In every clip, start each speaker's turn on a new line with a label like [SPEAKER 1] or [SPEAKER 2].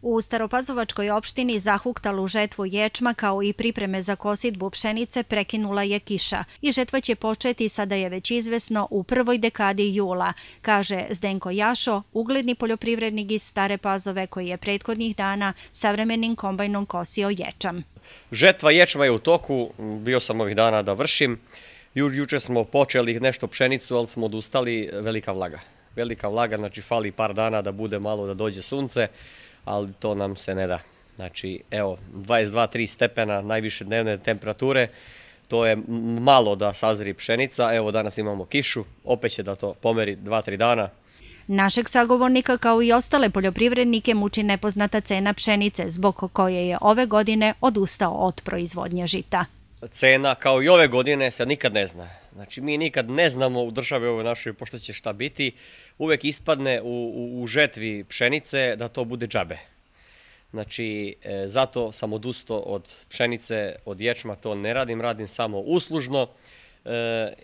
[SPEAKER 1] U Staropazovačkoj opštini zahuktalu žetvu ječma kao i pripreme za kosidbu pšenice prekinula je kiša i žetva će početi, sada je već izvesno, u prvoj dekadi jula, kaže Zdenko Jašo, ugledni poljoprivrednik iz Stare Pazove koji je prethodnih dana savremenim kombajnom kosio ječam.
[SPEAKER 2] Žetva ječma je u toku, bio sam ovih dana da vršim. Juče smo počeli nešto pšenicu, ali smo odustali, velika vlaga. Velika vlaga, znači fali par dana da bude malo, da dođe sunce, ali to nam se ne da. Znači, evo, 22-3 stepena najviše dnevne temperature, to je malo da sazri pšenica. Evo, danas imamo kišu, opet će da to pomeri 2-3 dana.
[SPEAKER 1] Našeg sagovornika kao i ostale poljoprivrednike muči nepoznata cena pšenice, zbog koje je ove godine odustao od proizvodnje žita.
[SPEAKER 2] Cena kao i ove godine se nikad ne zna. Znači, mi nikad ne znamo u državi ovoj našoj pošto će šta biti. Uvek ispadne u žetvi pšenice da to bude džabe. Znači, zato sam odustao od pšenice, od ječma, to ne radim, radim samo uslužno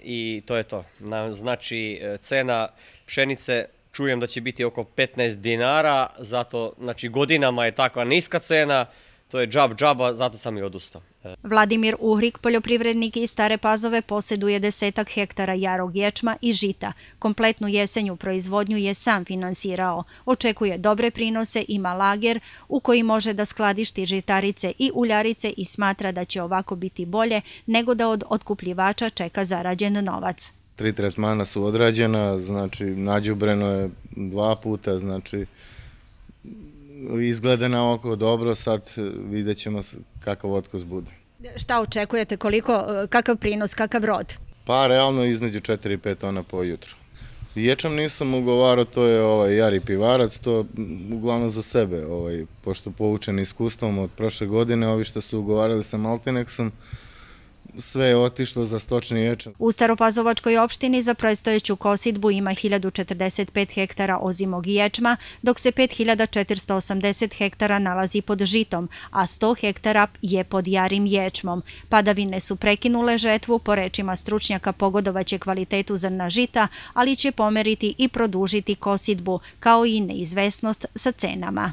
[SPEAKER 2] i to je to. Znači, cena pšenice čujem da će biti oko 15 dinara, zato, znači, godinama je takva niska cena, to je džaba, zato sam i odustao.
[SPEAKER 1] Vladimir Uhrik, poljoprivrednik iz Stare Pazove, posjeduje 10 hektara jarog ječma i žita. Kompletnu jesenju proizvodnju je sam finansirao. Očekuje dobre prinose, ima lager u koji može da skladišti žitarice i uljarice i smatra da će ovako biti bolje nego da od otkupljivača čeka zarađen novac.
[SPEAKER 3] 3 tretmana su odrađena, znači nađubreno je 2 puta, znači izgleda na oko dobro, sad vidjet ćemo kakav otkus bude.
[SPEAKER 1] Šta očekujete, kakav prinos, kakav rod?
[SPEAKER 3] Pa realno između 4 i 5 tona po jutru. Ječam nisam ugovarao, to je jari pivarac, to uglavnom za sebe, pošto poučen iskustvom od prošle godine, ovi što su ugovarali sa Maltinexom, sve je otišlo za stočni ječam.
[SPEAKER 1] U Staropazovačkoj opštini za predstojeću kosidbu ima 1045 hektara ozimog ječma, dok se 5480 hektara nalazi pod žitom, a 100 hektara je pod jarim ječmom. Padavine su prekinule žetvu, po rečima stručnjaka pogodovaće kvalitetu zrna žita, ali će pomeriti i produžiti kosidbu, kao i neizvesnost sa cenama.